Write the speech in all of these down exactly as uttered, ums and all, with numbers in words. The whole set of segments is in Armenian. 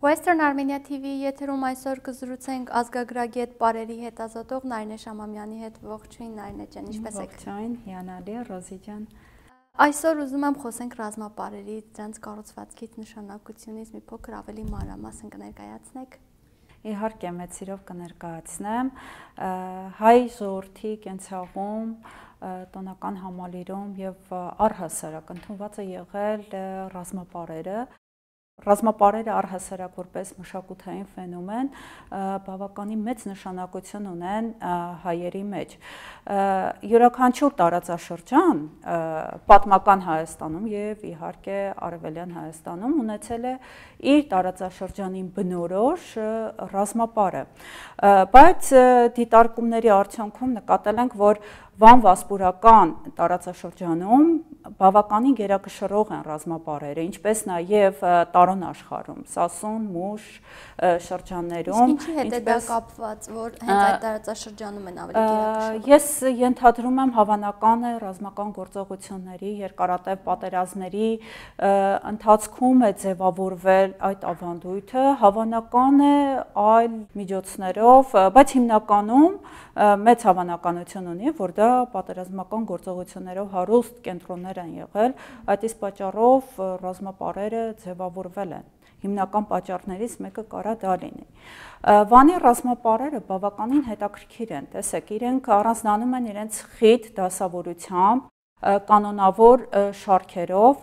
Western Armenia T V եթերում այսօր կզրուցենք ազգագրագետ Պարերի հետազոտող Նարինե Շամամյանի հետ։ Ողջույն Նարինե ջան, ինչպե՞ս եք։ Ողջույն, հիանալի Ռոզի ջան։ Այսօր ուզում եմ խոսենք ռազմապարերի դրանց կառուցվածքից, նշանակությունից մի փոքր ավելի մանրամասն կներկայացնեք։ Իհարկե, մեծ սիրով կներկայացնեմ։ Հայ ժողովրդի կենցաղում տոնական համալիրում եւ առհասարակ ընդունված է եղել ռազմապարերը։ Ռազմապարերը առհասարակ որպես մշակութային ֆենոմեն բավականին մեծ նշանակություն ունեն հայերի մեջ։ Յուրաքանչյուր տարածաշրջան պատմական Հայաստանում եւ իհարկե Արևելյան Հայաստանում ունեցել է իր տարածաշրջանին բնորոշ ռազմապարը։ Բայց դիտարկումների արդյունքում նկատել ենք, որ Վան-Վասպուրական տարածաշրջանում բավականին գերակշռող են ռազմապարերը, ինչպես նաև տարոն աշխարհում, Սասուն, Մուշ շրջաններում, ինչի հետ է դա կապված, որ հենց այդ տարածաշրջանում են ավելի գերակշռող։ Ես ենթադրում եմ հավանական է ռազմական գործողությունների, երկարատև պատերազմների ընթացքում է ձևավորվել այդ ավանդույթը, հավանական է այլ միջոցներով, բայց հիմնականում մեծ հավանականություն ունի, որ դա պատերազմական գործողություններով հարուստ կենտրոններ են եղել, այդ իսկ պատճառով ռազմապարերը ձևավորվել են։ Հիմնական պատճառներից մեկը կարա դա լինի։ Վանի ռազմապարերը բավականին հետաքրքիր են, տեսեք, իրենք առանձնանում են իրենց խիտ դասավորությամբ, կանոնավոր շարքերով,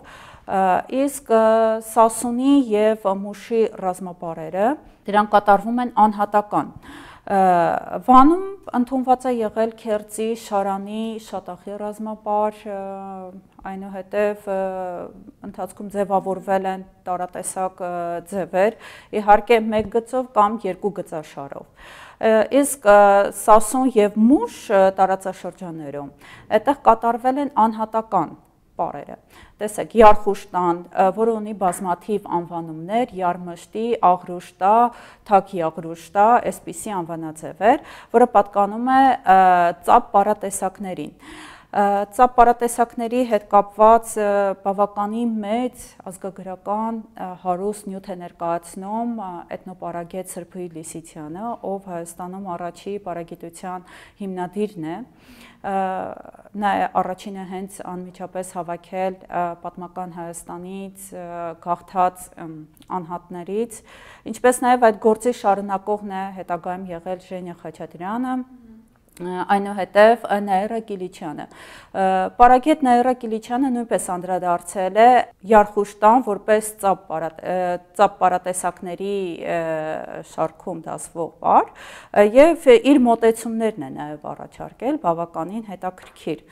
իսկ Սասունի եւ Մուշի ռազմապարերը դրանք կատարվում են անհատական։ Վանում ընդունված է եղել Քերծի, Շարանի, Շատախի ռազմապար, այնուհետև ընթացքում ձևավորվել են տարատեսակ ձևեր, իհարկե մեկ գծով կամ երկու գծաշարով։ Իսկ Սասուն եւ Մուշ տարածաշրջաններում այդտեղ կատարվել են անհատական պարերը։ Տեսեք, Յարխուշտան, որը ունի բազմաթիվ անվանումներ, Յարմշտի, Աղրուշտա, Թակ Յաղրուշտա, այսպիսի անվանաձևեր, որը պատկանում է ծափ պարատեսակներին։ Ծափ պարատեսակների հետ կապված բավականին մեծ ազգագրական հարուստ նյութ է ներկայացնում էթնոպարագետ Սրբուհի Լիսիցյանը, ով Հայաստանում առաջի պարագիտության հիմնադիրն է։ Նա է առաջինը հենց անմիջապես հավաքել պատմական Հայաստանից գաղթած անհատներից, ինչպես նաև այդ գործի շարունակողն է հետագայում եղել Ժենյա Խաչատրյանը, այնուհետև Նաիրա Կիլիչյանը։ Պարագետ Նաիրա Կիլիչյանը նույնպես անդրադարձել է Յարխուշտան որպես ծափ պարատեսակների շարքում դասվող պար եւ իր մոտեցումներն է նաև առաջարկել բավականին հետաքրքիր։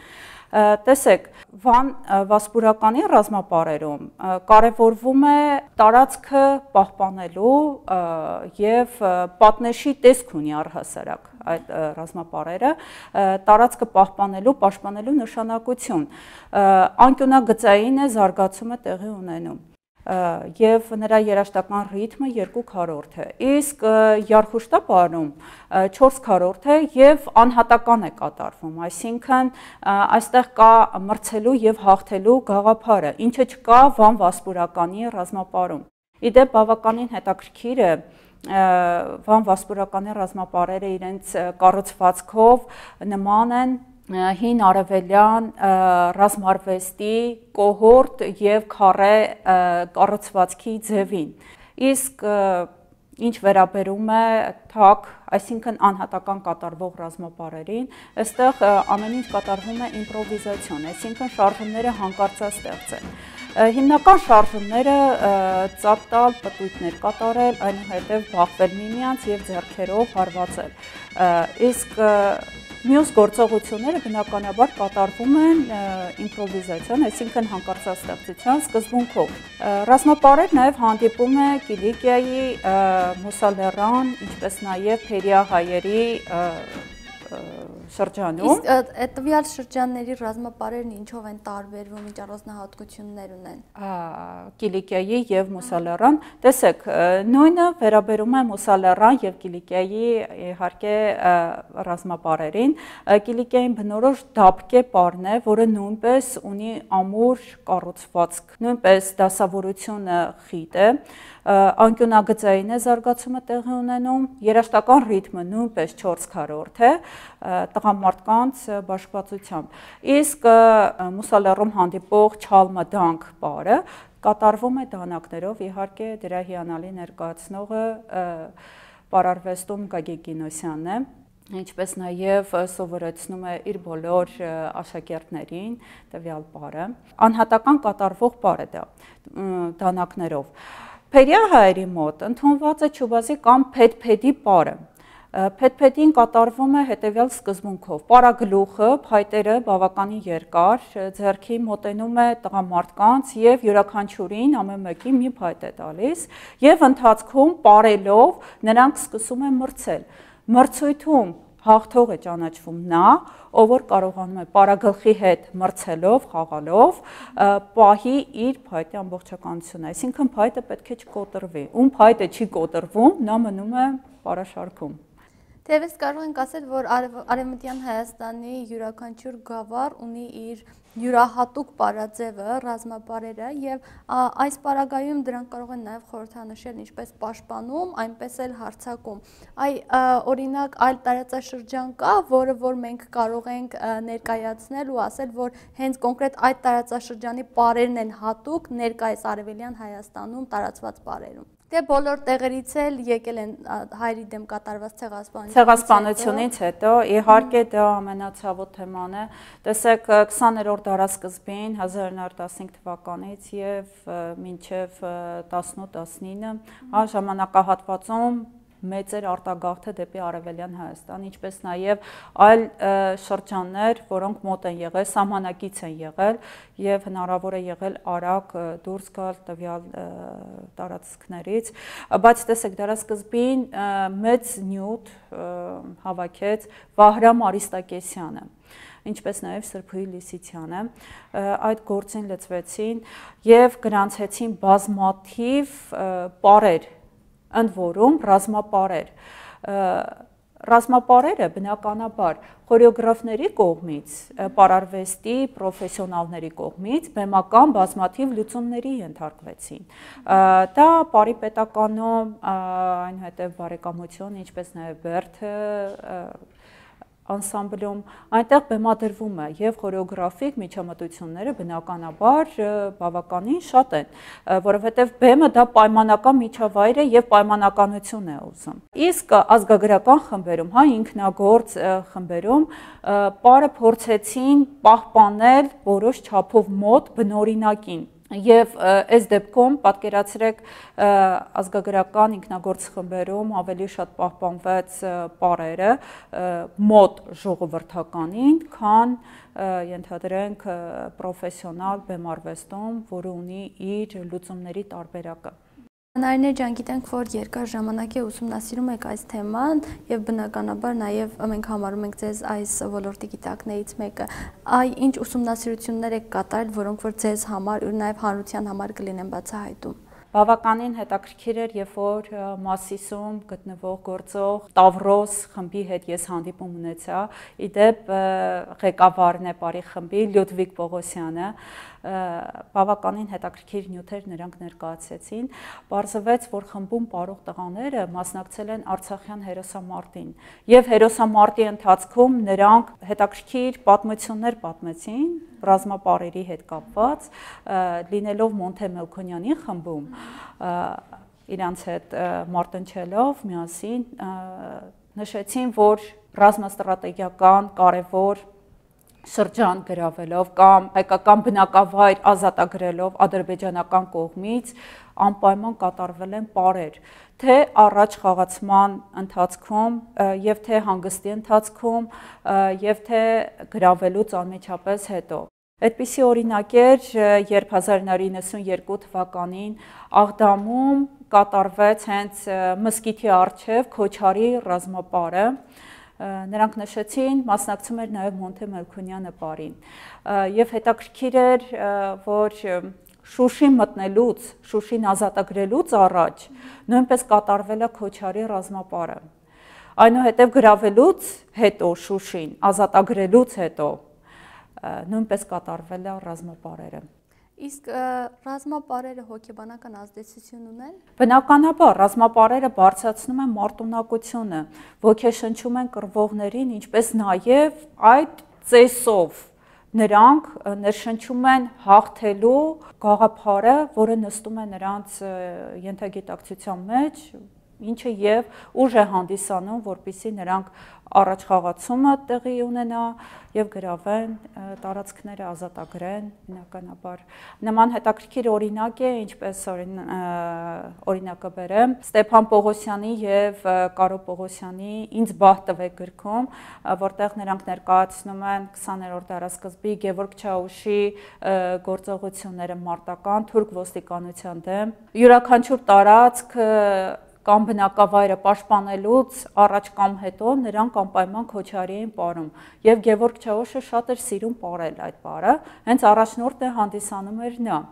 Տեսեք, Վան-Վասպուրականի ռազմապարերում կարևորվում է տարածքը պահպանելու եւ պատնեշի տեսք ունի առհասարակ այդ ռազմապարերը, տարածքը պահպանելու, պաշտպանելու նշանակություն։ Անկյունագծային է զարգացումը տեղի ունենում եւ նրա երաշտական ռիթմը երկու քառորդ է, իսկ Յարխուշտա պարում չորս քառորդ է եւ անհատական է կատարվում, այսինքն այստեղ կա մրցելու եւ հաղթելու գաղափարը, ինչը չկա Վան-Վասպուրականի ռազմապարում։ Իդեպ բավականին հետաքրքիր է Վան-Վասպուրականի ռազմապարերը իրենց կառուցվածքով նման են հին արևելյան ռազմարվեստի կոհորտ եւ քարե կառուցվածքի ձևին։ Իսկ ինչ վերաբերում է թակ, այսինքն անհատական կատարվող ռազմապարերին, այստեղ ամեն ինչ կատարվում է իմպրովիզացիոն, այսինքն շարժումները հանկարծաստեղծ են։ Հիմնական շարժումները ծափ տալ, պտույտներ կատարել, այնուհետև բախվել միմյանց եւ ձեռքերով հարվածել։ Իսկ մյուս գործողությունները բնականաբար կատարվում են իմպրովիզացիոն, այսինքն հանկարծաստեղծության սկզբունքով։ Ռազմապարեր նաև հանդիպում է Կիլիկիայի, Մուսալեռան, ինչպես նաև Փերիա հայերի շրջանում։ Իսկ այդ տվյալ շրջանների ռազմապարերն ինչով են տարբերվում, ինչ առանձնահատկություններ ունեն։ Կիլիկիայի եւ Մուսալեռան, տեսեք, նույնը վերաբերում է Մուսալեռան եւ Կիլիկիայի իհարկե ռազմապարերին։ Կիլիկիային բնորոշ դափկե պարն է, որը նույնպես ունի ամուր կառուցվածք, նույնպես դասավորությունը խիտ է։ անկյունագծային է զարգացումը տեղի ունենում, երաշտական ռիթմը նույնպես չորս քառորդ է տղամարդկանց բաշխվածությամբ։ Իսկ մուսալեռում հանդիպող չալմադանք պարը կատարվում է դանակներով, իհարկե դրա հիանալի ներկայացնողը պարարվեստում Գագիկ Գինոսյանն է, ինչպես նաև սովորեցնում է իր բոլոր աշակերտներին տվյալ պարը։ Անհատական կատարվող պար է դա դանակներով։ Փերյա հայերի մոտ ընդունված է չուբազի կամ փեդ-փեդի պարը։ Փեդ-փեդին կատարվում է հետևյալ սկզբունքով. պարագլուխը, փայտերը բավականին երկար, ձեռքի մոտենում է տղամարդկանց եւ յուրաքանչյուրին ամեն մեկին մի փայտ է տալիս եւ ընթացքում պարելով նրանք սկսում են մրցել։ Մրցույթում հաղթող է ճանաչվում նա, ով որ կարողանում է պարագլխի հետ մրցելով, խաղալով, պահի իր փայտի ամբողջականությունը, այսինքն փայտը պետք է չկոտրվի։ Ում փայտը չի կոտրվում, նա մնում է պարաշարքում։ Թեևս կարող ենք ասել, որ Արևմտյան Հայաստանի յուրաքանչյուր գավառ ունի իր յուրահատուկ պարաձևը, ռազմապարերը եւ այս պարագայում դրանք կարող են նաեւ խորհրդանշել ինչպես պաշտպանում, այնպես էլ հարձակում։ Այ օրինակ այլ տարածաշրջան կա, որը որ մենք կարող ենք ներկայացնել ու ասել, որ հենց կոնկրետ այդ տարածաշրջանի պարերն են հատուկ ներկայիս Արևելյան Հայաստանում տարածված պարերում։ Դե բոլոր տեղերից էլ եկել են հայերի դեմ կատարված ցեղասպանությունից ցեղասպանությունից հետո, իհարկե դա ամենացավոտ թեման է։ Տեսեք քսաներորդ դարասկզբին հազար ինը հարյուր տասնհինգ թվականից եւ մինչեւ տասնութ տասնինը, հա ժամանակահատվածում մեծ էր արտագաղթը դեպի Արևելյան Հայաստան, ինչպես նաև այլ շրջաններ, որոնք մոտ են եղել, սահմանակից են եղել եւ հնարավոր է եղել արագ դուրս գալ տվյալ տարածքներից, բայց տեսեք դարասկզբին մեծ նյութ հավաքեց Վահրամ Արիստակեսյանը, ինչպես նաև Սրբուհի Լիսիցյանը, այդ գործին լծվեցին եւ գրանցեցին բազմաթիվ պարեր, ընդ որում ռազմապարեր։ Ռազմապարերը բնականաբար խորեոգրաֆների կողմից, պարարվեստի պրոֆեսիոնալների կողմից բեմական բազմաթիվ լուծումների ենթարկվեցին։ Դա պարի պետականում, այնուհետև բարեկամություն, ինչպես նաև Բերդը անսամբլում, այնտեղ բեմադրվում է եւ խորեոգրաֆիկ միջամտությունները բնականաբար բավականին շատ են, որովհետեւ բեմը դա պայմանական միջավայր է եւ պայմանականություն է ուզում։ Իսկ ազգագրական խմբերում, հա ինքնագործ խմբերում պարը փորձեցին պահպանել որոշ չափով մոտ բնօրինակին։ Եվ այս դեպքում պատկերացրեք ազգագրական ինքնագործ խմբերում ավելի շատ պահպանվեց պարերը մոտ ժողովրդականին, քան ենթադրենք պրոֆեսիոնալ բեմարվեստում, որը ունի իր լուծումների տարբերակը։ Նարինե ջան, գիտենք, որ երկար ժամանակ է ուսումնասիրում եք այս թեման եւ բնականաբար նաեւ մենք համարում ենք ձեզ այս ոլորտի գիտակներից մեկը։ Այ ինչ ուսումնասիրություններ եք կատարել, որոնք որ ձեզ համար ու նաեւ հանրության համար կլինեն բացահայտում։ Բավականին հետաքրքիր էր, երբ որ Մասիսում գտնվող գործող Տավրոս խմբի հետ ես հանդիպում ունեցա, իդեպ ղեկավարն է բարի խմբի Լյուդվիգ Պողոսյանը, բավականին հետաքրքիր նյութեր նրանք ներկայացրեցին, պարզվեց, որ խմբում պարող տղաները մասնակցել են Արցախյան հերոսամարտին եւ հերոսամարտի ընթացքում նրանք հետաքրքիր պատմություններ պատմեցին ռազմապարերի հետ կապված, լինելով Մոնթե Մելքոնյանի խմբում, իրանց հետ մարտնչելով միասին նշեցին, որ ռազմաստրատեգիական կարևոր շրջան գրավելով կամ հայկական բնակավայր ազատագրելով ադրբեջանական կողմից անպայման կատարվել են պարեր, թե առաջ խաղացման ընթացքում եւ թե հանգստի ընթացքում եւ թե գրավելուց անմիջապես հետո։ Այդպիսի օրինակ էր, երբ հազար ինը հարյուր իննսունյերկու թվականին Աղդամում կատարվեց հենց մզկիթի առջև Քոչարի ռազմապարը, նրանք նշեցին, մասնակցում էր նաև Մոնթե Մելքոնյանը պարին, եւ հետաքրքիր էր, որ Շուշին մտնելուց, Շուշին ազատագրելուց առաջ նույնպես կատարվել է Քոչարի ռազմապարը, այնուհետև գրավելուց հետո Շուշին, ազատագրելուց հետո նույնպես կատարվել է ռազմապարերը։ Իսկ ռազմապարերը հոգեբանական ազդեցություն ունեն։ Բնականաբար ռազմապարերը բարձրացնում են մարտունակությունը, ոգեշնչում են կռվողներին, ինչպես նաև այդ ծեսով նրանք ներշնչում են հաղթելու գաղափարը, որը նստում է նրանց ենթագիտակցության մեջ, ինչը եւ ուժ է հանդիսանում, որպեսզի նրանք առաջ խաղացումը տեղի ունենա եւ գրավեն տարածքները, ազատագրեն բնականաբար։ Նման հետաքրքիր օրինակ է, ինչպես օրինակը բերեմ, Ստեփան Պողոսյանի եւ Կարո Պողոսյանի «Ինձ բահ տվեք» գրքում, որտեղ նրանք ներկայացնում են քսաներորդ դարաշրջանի Գևորգ Չաուշի գործողությունները մարտական թուրք ոստիկանության դեմ։ Յուրաքանչյուր տարածք կամ բնակավայրը պաշտպանելուց առաջ կամ հետո նրանք անպայման քոչարի էին պարում եւ Գևորգ Չաուշը շատ էր սիրում պարել այդ պարը, հենց առաջնորդը հանդիսանում էր նա։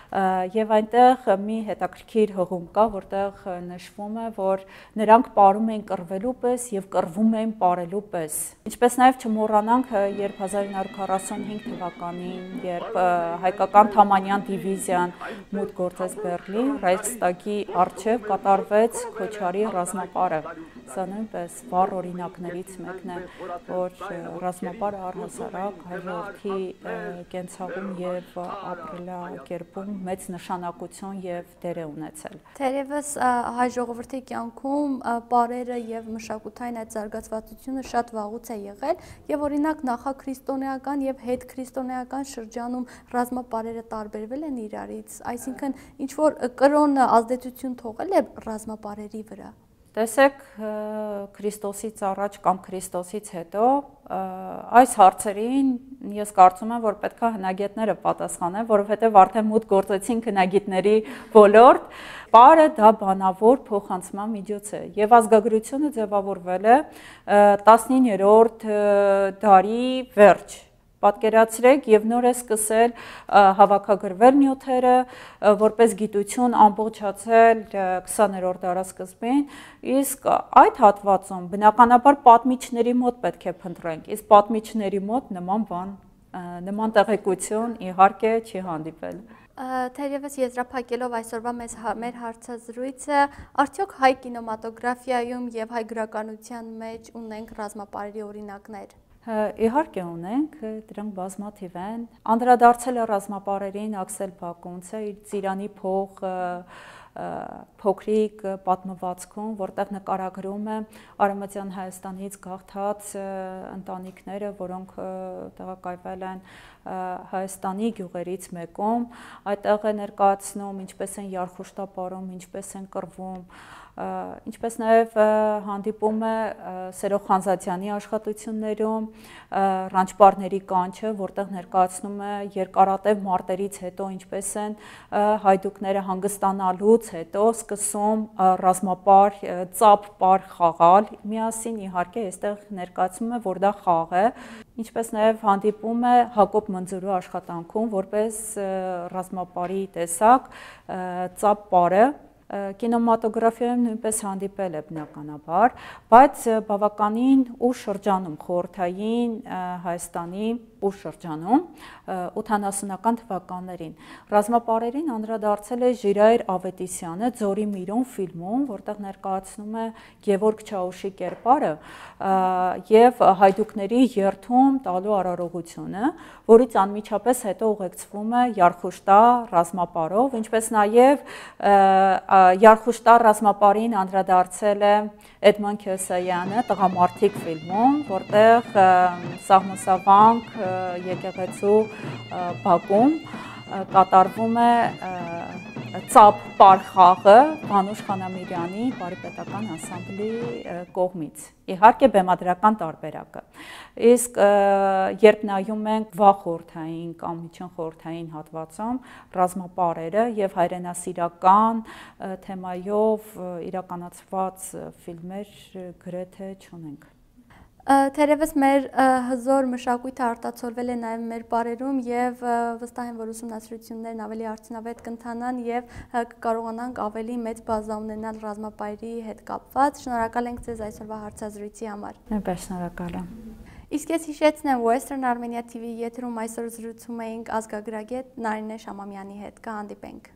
Եվ այնտեղ մի հետաքրքիր հղում կա, որտեղ նշվում է, որ նրանք պարում էին կռվելու պես եւ կռվում էին պարելու պես։ Ինչպես նաեւ չմոռանանք, երբ հազար ինը հարյուր քառասունհինգ թվականին, երբ հայկական Թամանյան դիվիզիան մուտք գործեց Բեռլին, Ռայխստագի առջև կատարվեց քոչարի ռազմապարը։ Սա նույնպես վառ օրինակներից մեկն է, որ ռազմապարը առհասարակ հաջորդի կենցաղում եւ ապրելակերպում մեծ նշանակություն եւ դեր է ունեցել։ Թերևս հայ ժողովրդի կյանքում պարերը եւ մշակութային այդ զարգացվածությունը շատ վաղուց է եղել եւ օրինակ նախաքրիստոնեական եւ հետքրիստոնեական շրջանում ռազմապարերը տարբերվել են իրարից, այսինքն ինչ որ կրոն ազդեցություն թողել է ռազմապարերի վրա։ Տեսեք, Քրիստոսից առաջ կամ Քրիստոսից հետո այս հարցերին ես կարծում եմ, որ պետք է հնագետները պատասխանեն, որովհետև արդեն մուտք գործեցին հնագիտների ոլորտ, պարը դա բանավոր փոխանցման միջոց է եւ ազգագրությունը ձևավորվել է տասնիններորդ դարի վերջ։ Պատկերացրեք եւ նոր է սկսել հավաքագրվել նյութերը, որպես գիտություն ամբողջացել քսաներորդ դարաշրջանին, իսկ այդ հատվածում բնականաբար պատմիչների մոտ պետք է փնտրենք, իսկ պատմիչների մոտ նման բան, նման տեղեկություն իհարկե չի հանդիպել։ Թերևս եզրափակելով այսօրվա մեր հարցազրույցը, արդյոք հայ կինեմատոգրաֆիայում եւ հայ գրականության մեջ ունենք ռազմապարերի օրինակներ։ Իհարկե ունենք, դրանք բազմաթիվ են։ Անդրադարձել է ռազմապարերին Աքսել Բակունցը իր Ծիրանի փող փոքրիկ պատմվածքում, որտեղ նկարագրում է Արևմտյան Հայաստանից գաղթած ընտանիքները, որոնք տեղակայվել են Հայաստանի գյուղերից մեկում, այդտեղ է ներկայացնում ինչպես են երխուշտապարում, ինչպես են կռվում, ինչպես նաև հանդիպում է Սերո Խանզադյանի աշխատություններում Ռանչպարների կանչը, որտեղ ներկայացնում է երկարատև մարտերից հետո ինչպես են հայդուկները հանգստանալուց հետո սկսում ռազմապար, ծափ պար խաղալ միասին, իհարկե այստեղ ներկայացում է, որ դա խաղ է, ինչպես նաև հանդիպում է Հակոբ Մնձուրու աշխատանքում, որպես ռազմապարի տեսակ ծափ պարը կինեմատոգրաֆիայում նույնպես հանդիպել է բնականաբար, բայց բավականին ուշ շրջանում, խորհրդային Հայաստանի ուշ շրջանում, ութանասունական թվականներին։ Ռազմապարերին անդրադարձել է Ժիրայր Ավետիսյանը Ձորի Միրոն ֆիլմում, որտեղ ներկայացնում է Գևորգ Չաուշի կերպարը եւ հայդուկների երթում տալու արարողությունը, որից անմիջապես հետո ուղեկցվում է Երխուշտար ռազմապարով, ինչպես նաեւ Երխուշտար ռազմապարին անդրադարձել է Էդմոն Քյոսայանը Տղամարդիկ ֆիլմում, որտեղ սահմանսավանք եկեղեցու բակում կատարվում է ծափ պար խաղը Վանուշ Խանամիրյանի բարիպետական անսամբլի կողմից, իհարկե բեմադրական տարբերակը։ Իսկ երբ նայում ենք վաղ խորհրդային կամ միջին խորհրդային հատվածում ռազմապարերը եւ հայրենասիրական թեմայով իրականացված ֆիլմեր գրեթե չունենք։ Թերևս մեր հզոր մշակույթը արտացոլվել է նաև մեր պարերում եւ վստահ եմ, որ ուսումնասիրություններն ավելի արդյունավետ կընթանան եւ կկարողանանք ավելի մեծ բազա ունենալ ռազմապարերի հետ կապված։ Շնորհակալ ենք ձեզ այսօրվա հարցազրույցի համար։ Նույնպես շնորհակալ եմ։ Իսկ ես հիշեցնեմ Western Armenia T V եթերում այսօր զրուցում էինք ազգագրագետ Նարինե Շամամյանի հետ։ Կհանդիպենք։